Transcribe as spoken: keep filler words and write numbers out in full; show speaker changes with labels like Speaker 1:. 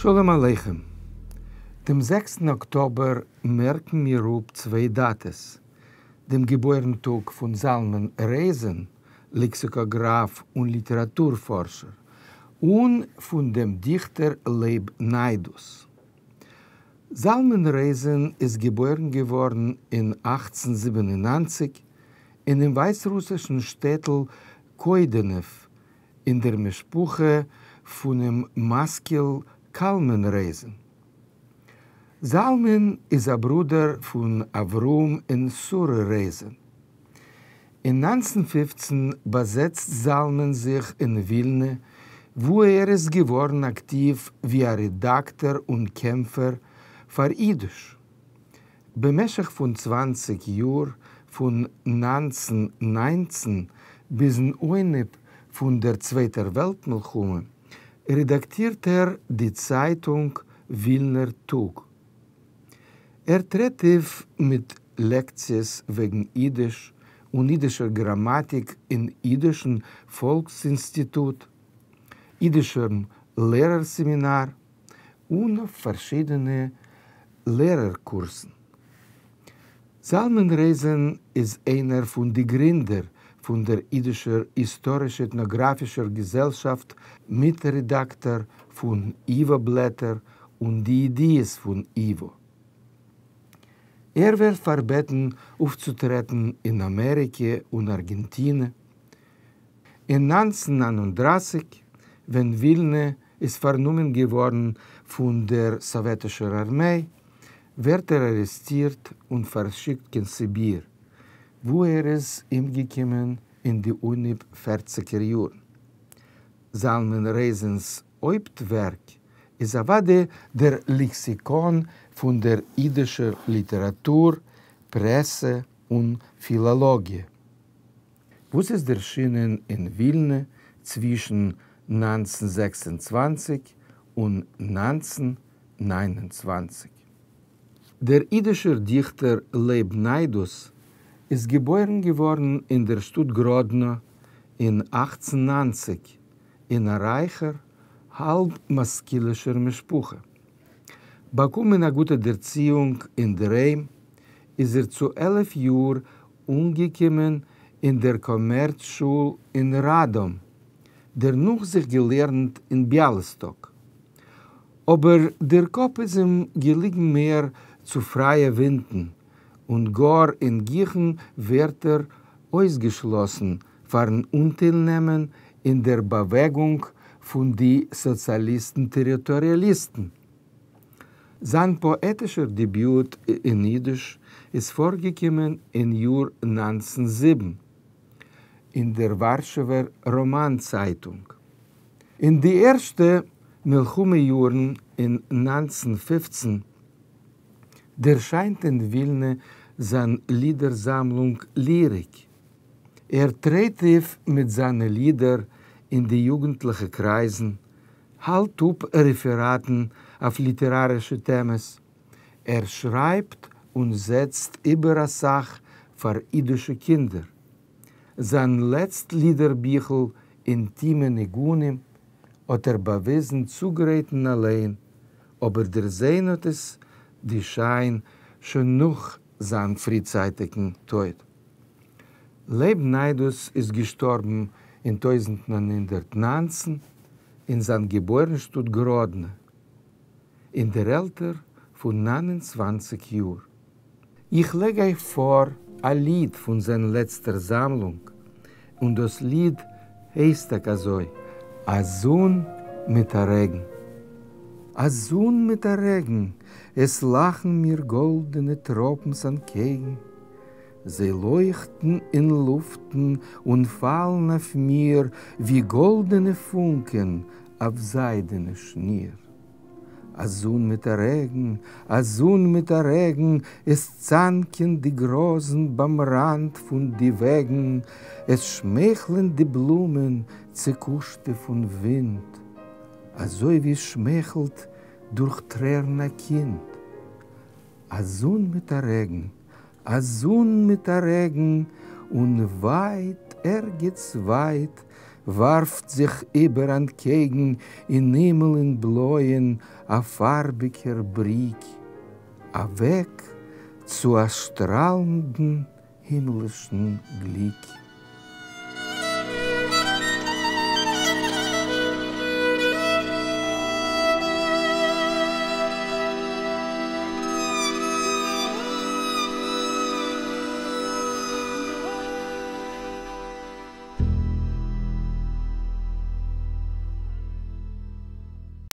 Speaker 1: שלום עליכם. דעם זעקסטן אָקטאָבער מערקן מיר אָפּ צוויי דאַטעס: דעם געבוירן-טאָג פֿון זלמן רייזען, לעקסיקאָגראַף און ליטעראַטור-פֿאָרשער, און פֿון דעם דיכטער לייב נײַדוס. זלמן רייזען איז געבוירן געוואָרן אין אַכצן זיבן און נײַנציק אינעם ווײַסרוסישן שטעטל קוידענעוו אין דער משפּחה פֿונעם משׂכּיל קלמן רייזען. זלמן איז אַ ברודער פֿון אַבֿרהם און שׂרה רייזען. אין נײַנצן פֿופֿצן באַזעצט זלמן זיך אין ווילנע, וווּ ער איז געוואָרן אַקטיוו ווי אַ רעדאַקטאָר און קעמפֿער פֿאַר ייִדיש. במשך פֿון צוואַנציק יאָר, פֿון נײַנצן נײַנצן ביזן אָנהייב פֿון דער צווייטער וועלט-מלחמה, רעדאַקטירט ער די צײַטונג ווילנער טאָג. ער טרעט אויף מיט לעקציעס וועגן ייִדיש און ייִדישער גראַמאַטיק אין ייִדישן פֿאָלקס-אינסטיטוט, ייִדישן לערער-סעמינאַר און אויף פֿאַרשיידענע לערער-קורסן. זלמן רייזען איז איינער פֿון די גרינדער פֿון דער ייִדישער היסטאָריש-עטנאָגראַפֿישער געזעלשאַפֿט, מיטרעדאַקטאָר פֿון ייִוואָ-בלעטער און די ידיעות פֿון ייִוואָ. ער ווערט פֿאַרבעטן אויפֿצוטרעטן אין אַמעריקע און אַרגענטינע. אין נײַנצן נײַן און דרײַסיק, ווען ווילנע איז פֿאַרנומען געוואָרן פֿון דער סאָוועטישער אַרמיי, ווערט ער אַרעסטירט און פֿאַרשיקט קיין סיביר, וווּ ער איז אומגעקומען אין די אָנהייב פֿערציקער יאָרן. זלמן רייזענס הויפּטווערק איז אַוודאי דער לעקסיקאָן פֿון דער ייִדישער ליטעראַטור, פּרעסע און פֿילאָלאָגיע, וואָס איז דערשינען אין ווילנע צווישן נײַנצן זעקס און צוואַנציק און נײַנצן נײַן און צוואַנציק. דער ייִדישער דיכטער לייב נײַדוס איז געבוירן געוואָרן אין דער שטאָט גראָדנע אין אַכצן נײַנציק אין אַ רײַכער, האַלב-משׂכּילישער משפּחה. באַקומען אַ גוטע דערציִונג אין דער היים, איז ער צו עלף יאָר אָנגעקומען אין דער קאָמערץ-שול אין ראַדאָם, דערנאָך זיך געלערנט אין ביאַליסטאָק. אָבער דער קאָפּ איז אים געליגן מער צו פֿרײַע ווינטן, און גאָר אין גיכן ווערט ער אויסגעשלאָסן פֿאַרן אָנטיילנעמען אין דער באַוועגונג פֿון די סאָציאַליסטן-טעריטאָריאַליסטן. זײַן פּאָעטישער דעביוט אין ייִדיש איז פֿאָרגעקומען אין יאָר נײַנצן זיבן אין דער וואַרשעווער ראָמאַן-צײַטונג. אין די ערשטע מלחמה-יאָרן אין נײַנצן פֿופֿצן דערשײַנט אין ווילנע זײַן לידער-זאַמלונג ליריק. ער טרעט אויף מיט זײַנע לידער אין די יוגנטלעכע קרײַזן, האַלט אָפּ רעפֿעראַטן אויף ליטעראַרישע טעמעס. ער שרײַבט און זעצט איבער אַ סך פֿאַר ייִדישע קינדער. זײַן לעצט לידער-ביכל אינטימע ניגונים האָט ער באַוויזן צוגרייטן אַליין, אָבער דערזען האָט עס די שײַן שוין נאָך זײַן פֿריצײַטיקן טויט. לייב נײַדוס איז געשטאָרבן אין טויזנט נײַן הונדערט נײַנצן אין זײַן געבוירן-שטאָט גראָדנע, אין דער עלטער פֿון נײַן און צוואַנציק יאָר. איך לייג אײַך פֿאָר אַ ליד פֿון זײַן לעצטער זאַמלונג, און דאָס ליד הייסט טאַקע אַזוי: אַ זון מיט אַ רעגן. אַ זון מיט אַ רעגן, עס לאַכן מיר גאָלדענע טראָפּנס אַנטקעגן. זיי לויכטן אין לופֿטן און פֿאַלן אויף מיר, ווי גאָלדענע פֿונקען אויף זײַדענע שניר. אַ זון מיט אַ רעגן, אַ זון מיט אַ רעגן, עס צאַנקען די גראָזן בײַם ראַנד פֿון די וועגן, עס שמייכלען די בלומען, צעקושטע פֿון ווינט, אַזוי ווי שמייכלט דורך טרערן אַ קינד. אַ זון מיט אַ רעגן, אַ זון מיט אַ רעגן, און ווײַט, ערגעץ ווײַט, וואַרפֿט זיך איבער אַנטקעגן אין הימל אין בלויען אַ פֿאַרביקער בריק, אַ וועג צו אַ שטראַלנדן הימלישן גליק.